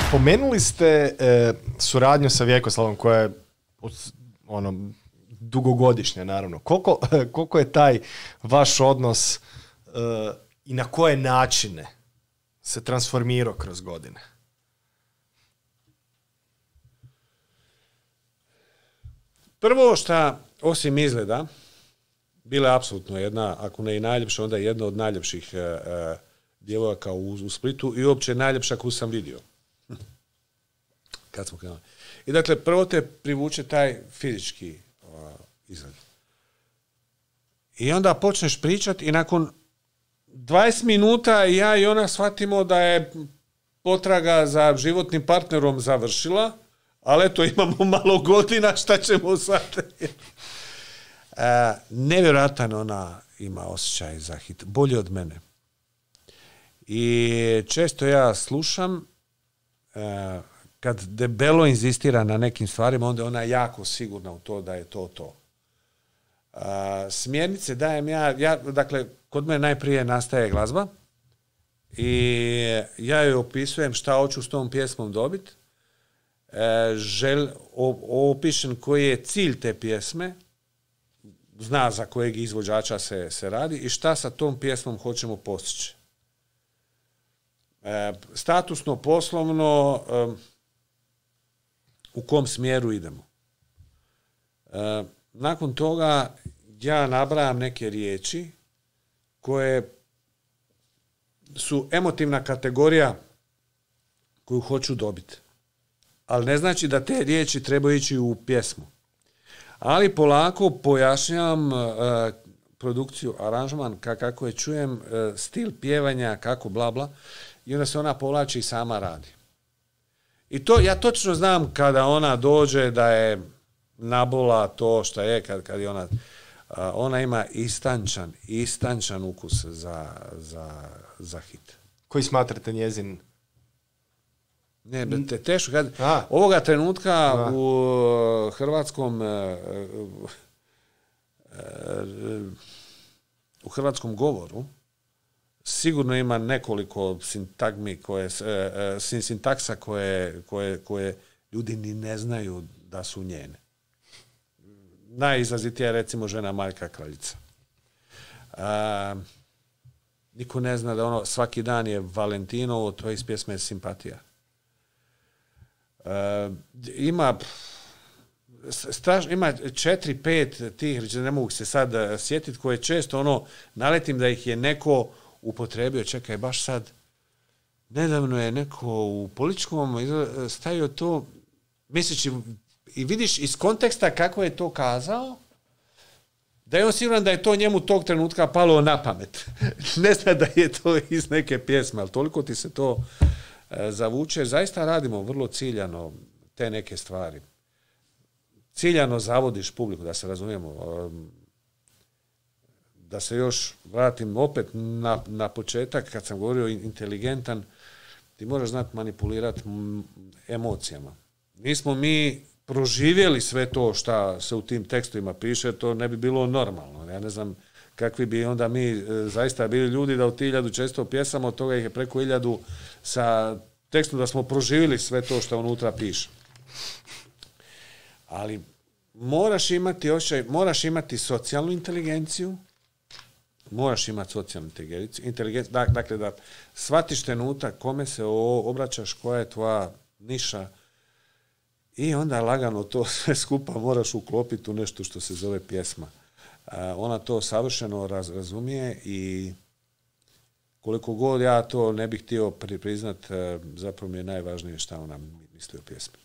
Spomenuli ste suradnju sa Vjekoslavom koja je dugogodišnja, naravno. Koliko je taj vaš odnos i na koje načine se transformirao kroz godine? Prvo što, osim izgleda, bila je apsolutno jedna, ako ne i najljepša, onda jedna od najljepših djevojaka u Splitu i uopće najljepša koju sam vidio. Kad smo krenuli. I dakle, prvo te privuče taj fizički izgled. I onda počneš pričati i nakon 20 minuta ja i ona shvatimo da je potraga za životnim partnerom završila, ali eto, imamo malo godina, šta ćemo sad? Nevjerojatan ona ima osjećaj za hit, bolje od mene. I često ja slušam, kad debelo inzistira na nekim stvarima, onda ona jako sigurna u to da je to. Smjernice dajem ja, dakle, kod mene najprije nastaje glazba i ja joj opisujem šta hoću s tom pjesmom dobiti, opišem koji je cilj te pjesme, zna za kojeg izvođača se radi i šta sa tom pjesmom hoćemo postići. Statusno, poslovno, u kom smjeru idemo. Nakon toga ja nabrajam neke riječi koje su emotivna kategorija koju hoću dobiti. Ali ne znači da te riječi trebaju ići u pjesmu. Ali polako pojašnjavam produkciju, aranžman, kako je čujem, stil pjevanja, kako bla bla, i onda se ona povlači i sama radi. I to ja točno znam kada ona dođe da je nabola to što je, kad je ona ima istančan ukus za hit. Koji smatrate njezin? Ne, teško. Ovoga trenutka u hrvatskom govoru sigurno ima nekoliko sintaksa koje ljudi ni ne znaju da su njene. Najizrazitija je recimo žena Marka Kraljica. Niko ne zna da svaki dan je Valentinovo, to je iz pjesme Simpatija. Ima 4-5 tih, ne mogu se sad sjetiti, koje često naletim da ih je neko upotrebio, čekaj, baš sad nedavno je neko u političkom stavio to, misleći, i vidiš iz konteksta kako je to kazao, da je on siguran da je to njemu tog trenutka palo na pamet. Ne zna da je to iz neke pjesme, ali toliko ti se to zavuče. Zaista radimo vrlo ciljano te neke stvari. Ciljano zavodiš publiku, da se razumijemo. Da se još vratim opet na početak, kad sam govorio inteligentan, ti moraš znati manipulirati emocijama. Nismo mi proživjeli sve to što se u tim tekstovima piše, to ne bi bilo normalno. Ja ne znam kakvi bi onda mi zaista bili ljudi da u 1400 pjesama, od toga ih je preko 1000 sa tekstom da smo proživjeli sve to što unutra piše. Ali moraš imati osjećaj, moraš imati socijalnu inteligenciju, dakle da shvatiš trenutak kome se obraćaš, koja je tvoja niša, i onda lagano to sve skupa moraš uklopiti u nešto što se zove pjesma. Ona to savršeno razumije i koliko god ja to ne bih htio priznat, zapravo mi je najvažnije šta ona misli o pjesmi.